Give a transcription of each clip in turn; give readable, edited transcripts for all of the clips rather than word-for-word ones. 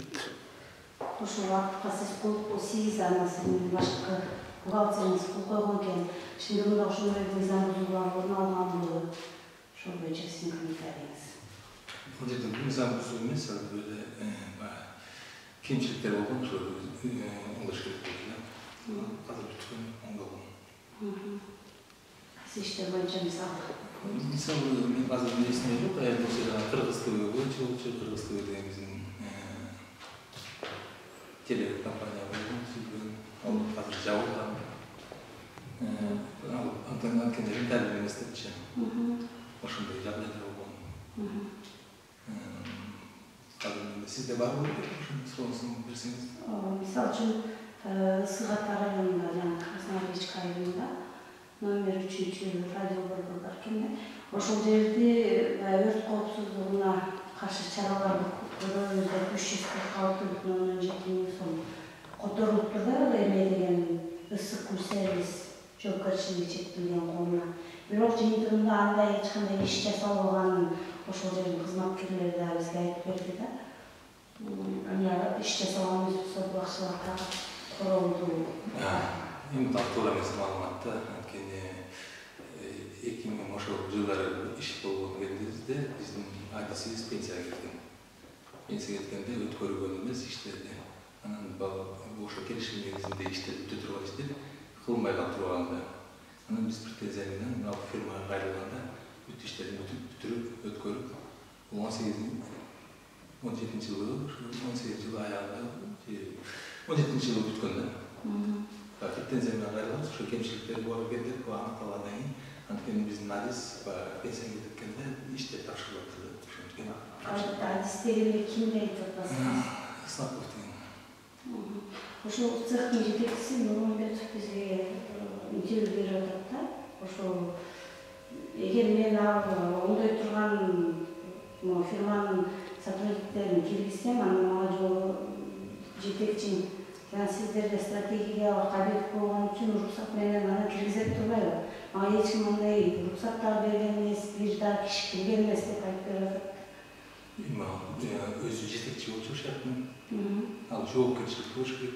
Кет. Ошол вакытка сиз кол 8 анасынын башкы бухгалтериңиз кол койгон экен. Şimdi мында ошондой мыйзам бузуулар орун алганбы? Ошол боюнча сиздин комментарийиңиз. Бул жерде мыйзам бузуу эмес, өзү кемчиликтер болгон, ошо оңдош керек болду. Азыр бүткөн оңдолгон. Сиз иштер боюнча мисалы мен азыр эсимде жок, ошо Кыргыз ТВ боюнча болчу, Кыргыз ТВ деген биздин телекомпания болгон, ал азыр жабылган. Анткени рентабель эмес депчи. Ошондой жагдайлар болгон. Сизде барбы? Сонусун берсеңиз. Мисалы үчүн Ысык Ата районунда жана Красноармейск районунда номер 3 радио борбору бар экен. Ошол жерде өрт коопсуздугуна каршы чараларды көрөбүз деп 346,17 миң сом которулуптур да, эме деген ысык кул сервис жоопкерчилиги чектелген коомуна. Бирок жыйынтыгында андай эч кандай иш жасалбаганын ошол жердин кызматкерлери да бизге айтып берди да. Иш жасалган болсо бакчыларга короолду. Эми туура эмес маалымат да, анткени 2000 ошол жылдары иш болгон кезинде биздин адисибиз пенсияга кеткен. Пенсияга кеткенде өткөргөн эмес иштерди. Анан ошо келишим негизинде иштеп турган иштер кылынбай калып турганда. Анан биз претензия менен мына фирмага кайрылганда бүт иштерин бүтүрүп, өткөрүп, 17 жылы, 18 жылы аягында, 17 жылы бүткөн да. Претензия менен кайрылганбыз, ошо кемчиликтер бар экен деп аныкталгандан кийин, анткени биздин адис пенсияга кеткенде иштеп тапшырылыптыр да. Адис дегенде кимди айтып атасыз? Снапов деген. Ошол цехтин жетекчиси Нурмамбетов бизге интервью берип атат да. Ошол эгер мен оңдой турган фирманын сотрудниктерин киргизсем, анан мага жолу жетекчим жана сиздерде стратегиялык объект болгон үчүн уруксат менен аны киргизет турбайбы? Мага эч ким андай уруксат да берген эмес, бир да киши кирген эмес деп айтып берип атат. Өзү жетекчи болчу шарттын. Ал жоопкерчилик болуш керек.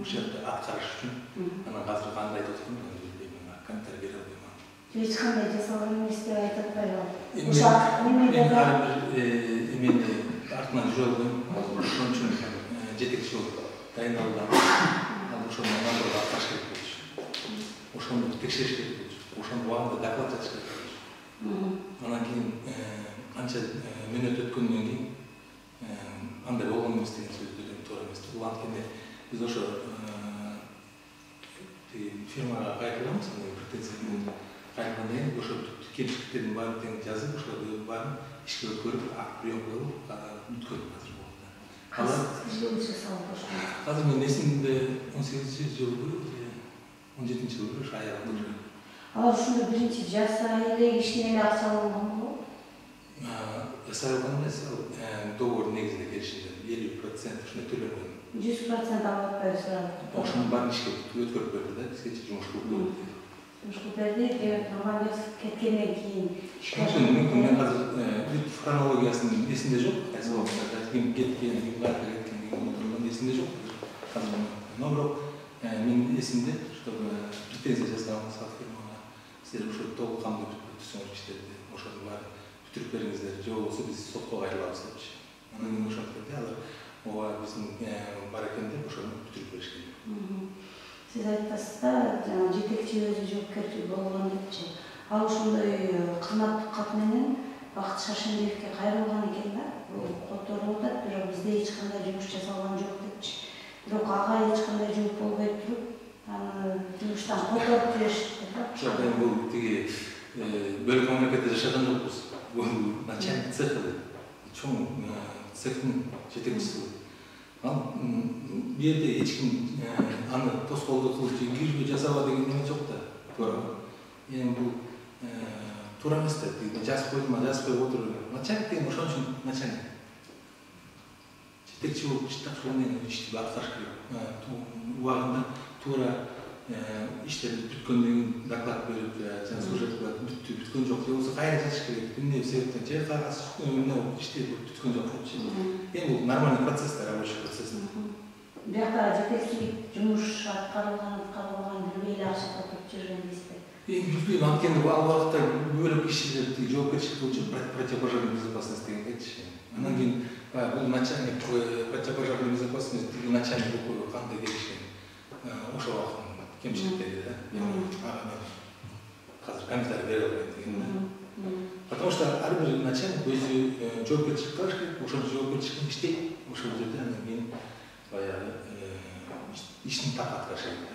Ошолду аткарыш үчүн. Анан азыр кандай деп аткан, комментарий бере албайм. Эч кандай жасалган эмес деп айтып атпайбы? Мен ар бир эменде артынан жүрө албайм. Ошон үчүн жетекчи болуп дайындалган. Ал ошону мамандырга аткарыш керек болчу. Ошону текшериш керек болчу. Ошону убагында доклад жазыш керек болчу. Анан кийин канча мүнөт өткөндөн кийин андай болгон эмес деген сөздөрдөн туура эмес. Бул анткени биз ошо фирмага кайрылганбыз, претензия менен кайрылгандан кийин ошо кемчиликтердин баарын жазып, ошолордун баарын ишке өткөрүп, прием кылып, бүткөн азыр болду. Жыл жасалып ошол. Азыр мен эсимде 18 жылбы, 17 жылбы ошо аягында. Алар ушунда биринчи жасай эле ишине эле акча алганбы? Жасай алган эмес, договор негизинде келишимде 50% ушундай төлөнгөн. 100% алып атпайбызбы? Ошонун баарын ишке өткөрүп берди да, бизге жумуш кылып берди. Жумуш кылып берди, демек Нурмамбетов кеткенден кийин. Мүмкүн мен азыр хронологиясын эсимде жок, кайсы убакытта ким кеткен, ким кайда кеткен, ким отурган эсимде жок. Азыр но бирок менин эсимде, чтобы претензия жазганбыз фирмага. Силер ошо толук кандуу бүтүрүп иштерди, ошонун баарын бүтүрүп бериңиздер, же болбосо биз сотко кайрылабыз депчи. Анан мен ошентип берди, алар ооба биздин бар экен деп ошону бүтүрүп беришкен. Сиз айтасыз да, жана жетекчи өзү жоопкерчилик болгон депчи. Ал ошондой кызматтык кат менен Бакыт Шаршембиевге кайрылган экен да. Бул которулуп атат, бирок бизде эч кандай жумуш жасалган жок депчи. Бирок ага эч кандай жумуш болбой туруп, аны жумуштан которуп жиберишти да. Жок, бул тиги бөлүк мамлекетте жашаган жокпуз. Бул начальник цеха, чоң цехтин жетекчиси. Ал бу жерде эч ким аны тоскоолдук кылып кирбей жасаба деген эме жок да. Туура. Эми бул туура эмес да. Жазып койдум, жазып коюп отуруп. Начальник деген ошон үчүн начальник. Жетекчи болуп иштеп ошону ишти аткарыш керек. Убагында туура иштер бүткөндүгүн доклад берип, жана сюжет кылып бүткөн жок же болбосо кайра жазыш керек. Эмне себептен же кагаз иштеп бүткөн жок депчи. Эми бул нормальный процесс, рабочий процесс. Бияка жетекчилик жумуш аткарылган билбей эле акча тотуп жүргөн дейсизби? Эми билбейм, анткени ал убакта бөлөк кишилер жоопкерчилик боюнча противопожарная безопасность дегенчи. Анан кийин бул начальник противопожарной безопасности начальник кандай келишкен. Ошол убакыттын кемчиликтери да. Азыр комментарий бере албайм деген. Потому что ар бир начальник өзү жоопкерчилик кылыш керек, ошол жоопкерчиликти иштейт, ошол жерде анан кийин баягы ишин так аткарыш керек.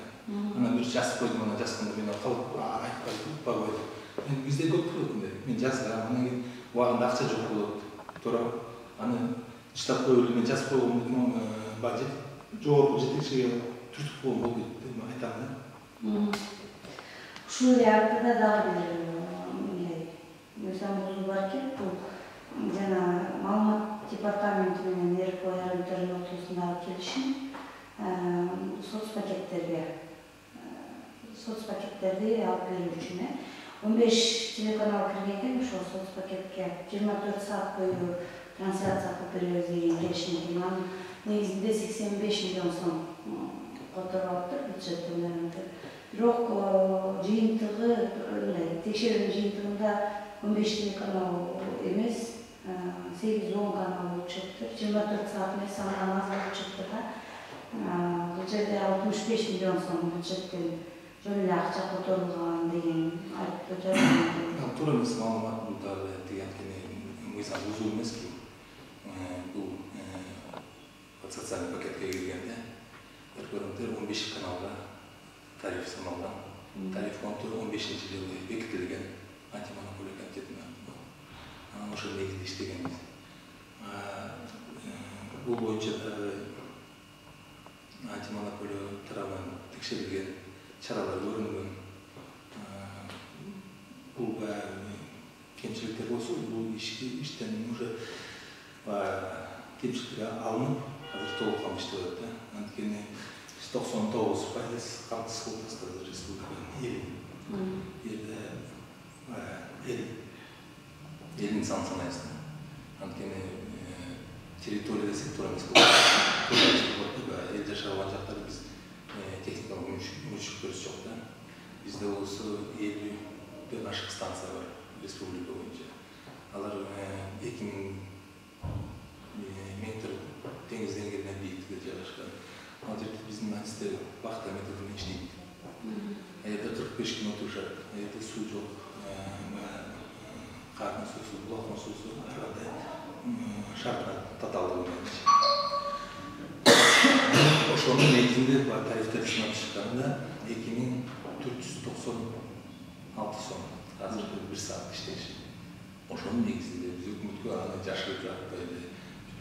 Анан бир жазып койдум, ана жазганда мен калып айтпай утпагы койдум. Эми бизде көп болот мындай. Мен жазгам, анан кийин убагында акча жок болот. Туура аны штаб коюп мен жазып койгом, бажет жогорку жетекчиге түртүп койгом болду деп айтам да. Ушул эле артында дагы бир мыйзам бар экен. Бул жана маалымат департаменти менен РК айрымдардын ортосундагы келишим соцпакеттерди алып берүү үчүн 15 телеканал киргенде ошол соцпакетке 24 саат бою трансляция кылып беребиз деген келишим. Анын негизинде 85 миллион сом которулуптур бюджеттен. Бирок жыйынтыгы текшерүүнүн жыйынтыгында 15 телеканал эмес, 8-10 канал болуп чыктыр. 24 саат эмес, андан аз болуп чыкты да. Бул жерде 65 миллион сом бюджеттен жөн эле акча которулган деген айтып жатат. Туура эмес маалымат бул дагы деген мыйзам бузуу эмески. Бул социалдык пакетке киргенде көрүнүктөр 15 каналга тариф саналган. Тариф 15-жылы бекитилген антимонополия комитетинин. Анан ошол негизинде иштегенбиз. Бул боюнча дагы антимонополия тарабынан текшерилген чаралар көрүнгөн. Бул кемчиликтер болсо, бул иштен уже кемчиликтер алынып, азыр толук иштеп атат. Анткени 99% камсыз кылып тастады республиканын элдин санын санайсың. Анткени территория десек туура эмес болот. Эл жашаган жактарда биз техникалык мүмкүнчүлүктөрүбүз жок да. Бизде болсо 50ден ашык станция бар республика боюнча. Алар 2000 метр деңиз деңгээлинен бийиктикте жайгашкан. Ал жерде биздин артисттер вахта методунда иштейт. Эде 45 күн отурушат, эде суу жок, кардын суусу, булактын суусу ар кандай шартына татаалдыгы менен. Ошонун негизинде тарифтерди сынап чыкканда 2496 сом. Азыр 1 саат иштеши. Ошонун негизинде биз өкмөткө аны жашырып жатпайды.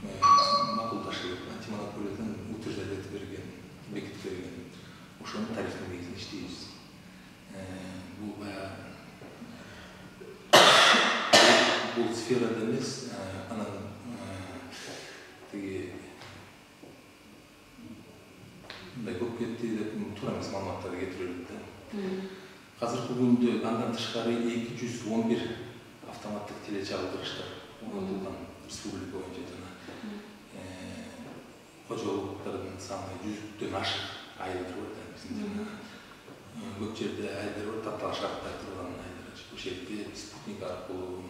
Макулдашып, антимонополиядан утверждать берген, бекитип берген. Ошонун тарифтин негизинде иштейбиз. Бул сферада эмес, анан тиги мындай көп кетти деп туура эмес маалыматтарды кетирилет да. Азыркы күндө андан тышкары 211 автоматтык телечагылдырыштар орнотулган республика боюнча жана кожолуктардын саны 100дөн ашык айылдар бар да биздин жана көп жерде айылдар бар, таптал шартта турган айылдар. Ошол жерде спутник аркылуу,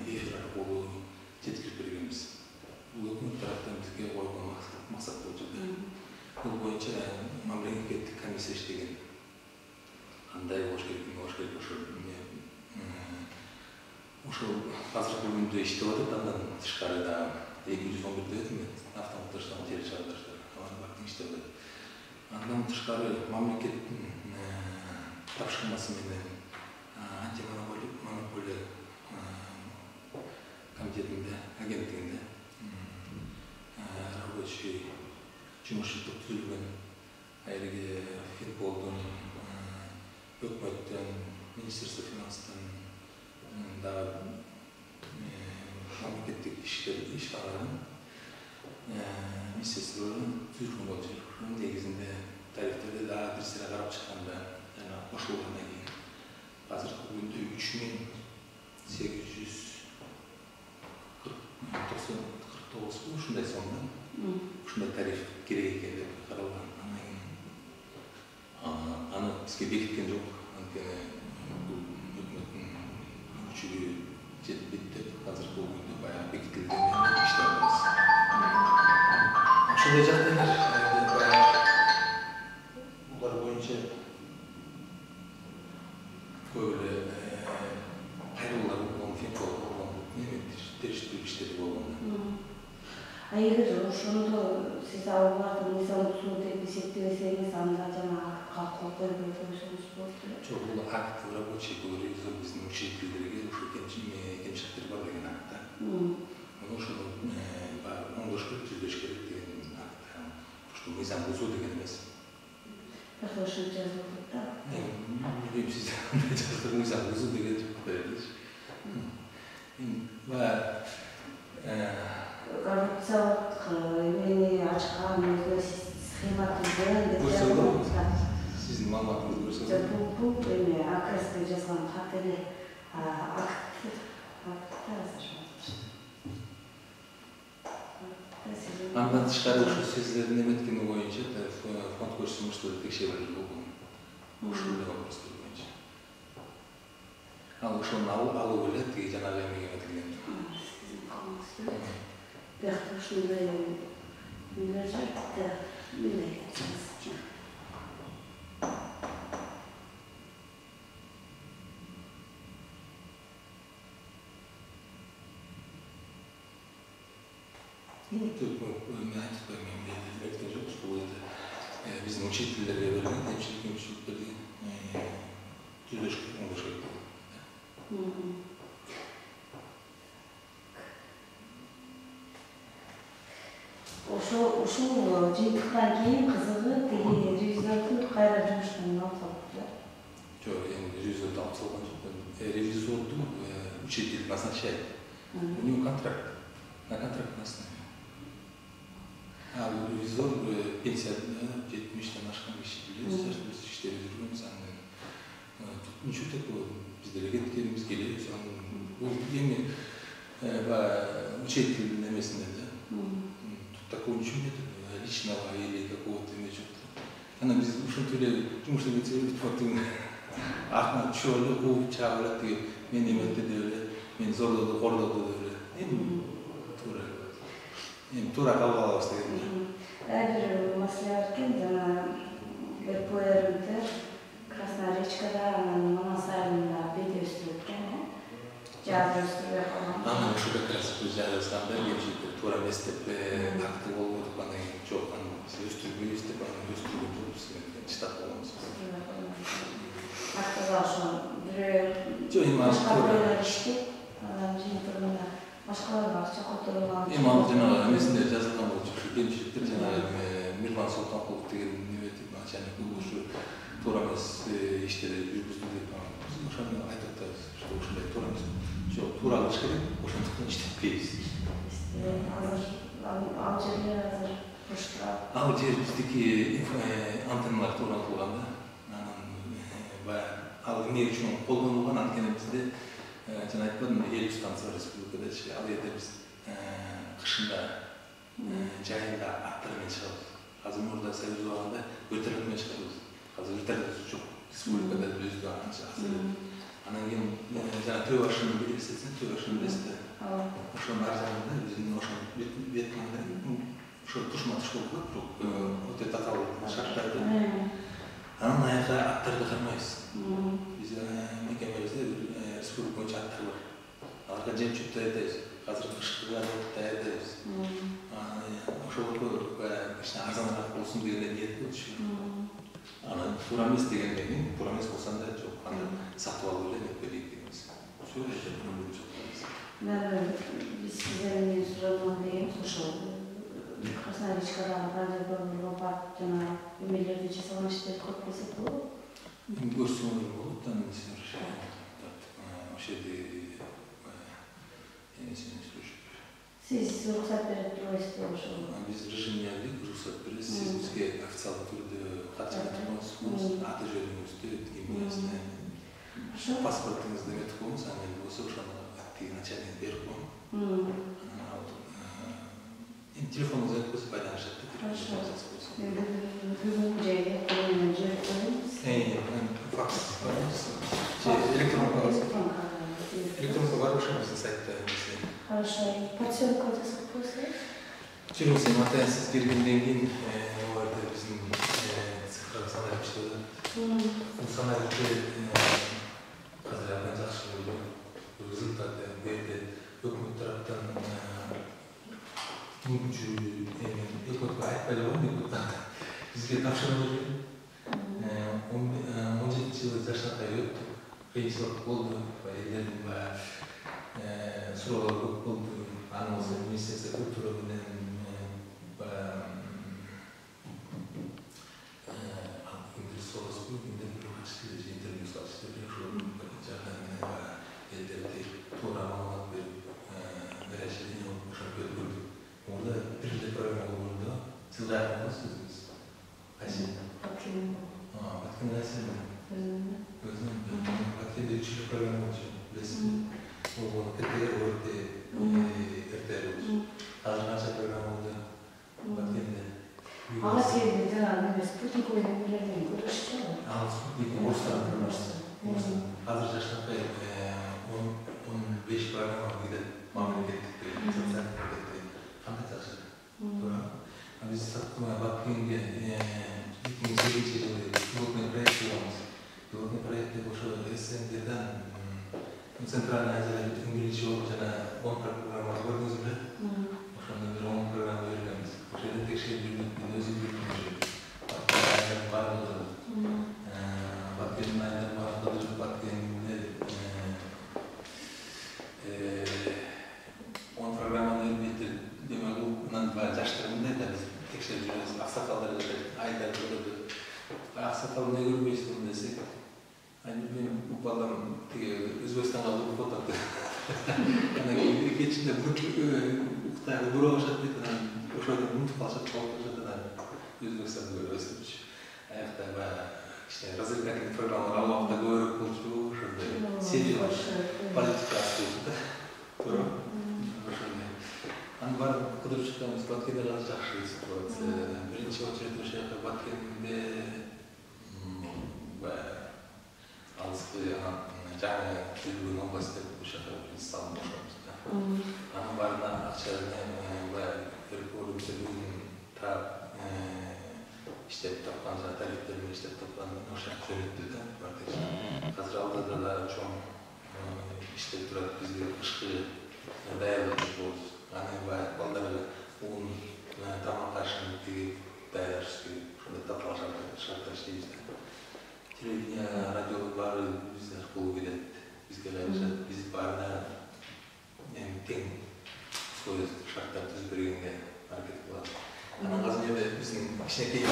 эфир аркылуу жеткирип бергенбиз. Бул өкмөт тараптан бизге койгон максат болчу да. Бул боюнча мамлекеттик комиссия иштеген. Кандай болуш керек, ошол азыркы күндө иштеп атат. Андан тышкары да 211 дедим автоматташтырган телечагылдырыштар. Алар баардыгы иштеп атат. Андан тышкары мамлекеттин тапшырмасы менен антимонополия комитетинде, агенттигинде рабочий жумушчулук түзүлгөн. Айрыгы Финполдун, өкмөттөн, Министерство финанстан дагы мамлекеттик ишканаларын министрлигинин түзүлгөн болчу. Негизинде тарифтерде дагы бир сыйра карап чыкканда жана кошулгандан кийин азыркы күндө 3849 ушундай сомдо ушундай тариф керек экен деп каралган. Аны бизге бекиткен жок. Анткени бул өкмөттүн күчүгө жетпейт деп азыркы күндө баягы бекитилген иштеп атабыз. Ошондой жагдайлар булар боюнча көп эле кайрылуулар болгон, финкол болгон, териштирүү иштери болгон. Эгер ошондо сиз аларды мыйзам бузуу деп эсептебесеңиз, анда жана калкуу көрбөй коюшуңуз болот эле. Жок, бул акт рабочий, бул ревизор биздин учредителерге ушул кемчиликтер бар деген акт. Ошону оңдош керек, түзөш керек деген акт. Ушул мыйзам бузуу деген эмес. Бирок ошентип жазылып да. Билбейм, сиз кандай жаздык, мыйзам бузуу деген жооп береличи. Коррупциялык эмени ачкан схема түзгөн деп жазылып, сиздин маалыматыңызды көрсөңүз. Бул эме АКСке жазган хат эле акт азыр. Андан тышкары ушу сиздердин эметкени боюнча фонд көрсөтмөштөрү текшерилип болгон. Ушул вопростор боюнча. Ал ошону алуу эле тиги жанагы эмеге эметилген. Бирок ушундай мындай жакта мындай кетсеңиз. Мен айтып коймойм, электен жок, бул биздин учителдерге берген кемчиликтерди түзөш керек, оңдош керек. Ушул жыйынтыктан кийин кызыгы тиги ревизорду кайра жумуштан алып салыптыр. Жок, эми ревизорду алып салган жок. Ревизорду учитель назначает. У него контракт. На контрактной основе. А ревизор пенсияда 70-тен ашкан киши билебиз, биз иштеп жүргөнбүз. Ничего такого, биз деле кеткенбиз, келебиз. Бул эми учитель эмесинде да. Тут такого ничего нет, личного или какого-то ничего. Ана биз ушинтип эле жумуш эметсек, артынан түшүп эле, кууп чыгып эле тиги мен эметти деп эле, мен зордоду, кордоду деп эле. Туура кабыл алабыз деген. Бир маселе бар экен, жана БПРМТ Красная Речкада, анан Манас айылында бети өстүрүп экен, жаз өстүрбөй калган. Анан ушу как раз биз жазганда кемчиликтер туура эмес деп акты болуп атып, анан кийин жок, биз өстүрбөйбүз деп өстүргөн жокпуз деген штат болгонбуз. Актыга ошо бирөө жок, эми башка бирөөлөр иштеп, анан жыйынтыгында башкалар акча которулган. Эми ал жанагы эмесинде жазылган болчу, ушу кемчиликтер жанагы Мирлан Султанкулов деген неметип, начальник ушу туура эмес иштерди жүргүздү деп ошону айтып атабыз, что ушундай туура эмес. Жок, туура кылыш керек, ошондуктан иштеппейбиз. Ал жерлер азыр бош турат. Ал жер биздики антенналар орнотулган да. Анан баягы ал эмне үчүн колдонулган, анткени бизде жана айтпадым, 50 станция бар республикадачы. Ал жерде биз кышында жайында аттар менен чыгабыз. Азыр мурда Союз убагында вертолет менен чыгабыз. Азыр вертолет жок. Республикада өзү анча азыр. Анан кийин жана Төө башын билесиз, Төө башын билесиз. Ошонун ар жагында биздин ошо бетинде ошо тушма-туш болуп коет, өтө татаал шарттар. Анан аяка аттарды кармайбыз. Биз мекемебизде республика боюнча аттар бар. Аларга жем-чөп даярдайбыз. Азыр кышкыга даярдайбыз. Ошолорго кичине арзаныраак болсун деген ниет болчу. Анан туура эмес дегенден кийин, туура эмес болсо да жок, аны сатып алып эле деп берейик дегенбиз. Ошол эле проблема жок. Биз сиздерден сураган дегенбиз ошол Красная Речкадагы радиодорборго барып жана эмелерди жасаган иштерди көп десек болобу? Көрсөңүз болот, анан ошол жерде Сиз уруксат берип турбайсызбы ошол? Биз режимдеги уруксат беребиз, сиз бизге официалдуу түрдө катчылыгыңыз, аты жөнүңүздү, кимиңизди, паспортуңузду эметип коюңуз, анан болсо ошону тиги начальник берип коюң. Телефонуңузду айтып койсо байланышат да. Бүгүнкү жайда коюнан жиберип коебуз. Факс барбыз. Электронка бар ошо биздин сайтта. Хорошо. Подсёлка жасап койсо. Жүрүңүз, атайын сиз келгенден кийин аларда биздин цифрлык саналып иштеп атат. Бул саналып азыр абдан жакшы болду. Результат бу жерде өкмөт тараптан түнкүчү өкмөткө айтпай койгон, бизге тапшырма берген. 17-жылы жаштанкай өттү. Кыйынчылык болду, элдердин суроолору көп болду. Анын министрлик культура менен интервью салышты, элдерди туура маалымат берип, расширение ошентип өткөрдүк. Орда биринчи программа болгондо сиз кайрылыңыз өзүңүз. Кайсы? Баткен Расин. Өзүнүн Баткенде 3-чү программа болчу. Билесизби? Ол КТР, ОРТ, РТР болчу. Азыр канча программа болду Баткенде? Ага сенде жанагы спутник ойногондордон көрүшчү. Спутник орустардын азыр жаштанкай 15 программа кирет мамлекеттик социалдык пакетте. Кандай жакшы. Туура. Биз Баткенге 2008-жылы пилотный проект кылабыз. Пилотный проектте ошо СНГдан Центральная Азия Инглиш болуп жана 10 программа көрдүңүз беле? Ошондо бир 10 программа берилебиз. Ошо жерде текшерип жүрдүк, өзү жүрдүк. Баткендин баардыгы Баткенде 10 программаны бербейт. Демек, мындан жаштар мындай да биз текшерип жүрөбүз. Аксакалдар айдар көрөдү. Аксакал эмне көрбөйсүң десек, мен балам тиги Өзбекстанга барып отурду. Анан кечинде Кытайга көрө баштап кетти. Ошодон унутуп калышат, Өзбекстанды көрөбүз депчи. Аякта баягы развлекательный программалар ал убакта көбүрөөк болчу, ошондой сериялар, политика болчу да. Туура. Ошондой. Анын баарын кыдырып чыкканбыз. Баткенде жакшы ситуация. Биринчи очередь ошо жака Баткенде алыскы жаңы түзүлгөн область деп ошо жака салынып ошобуз да. Анын баарына акча иштеп тапкан, тарифтер менен иштеп тапкан ошо жөнөттү да. Азыр алда да чоң иштеп турат, бизге кышкы даярдык болобуз. Анын балдар уун тамак ашын тигип даярдаш керек. Ошондой тапталган шартта иштейбиз да. Телевидение, радионун баары биз аркылуу келет, бизге кайрышат, биз баарына тең условия шарттар түзүп бергенге аракет кылабыз. Анан азыр эми биздин кичинекей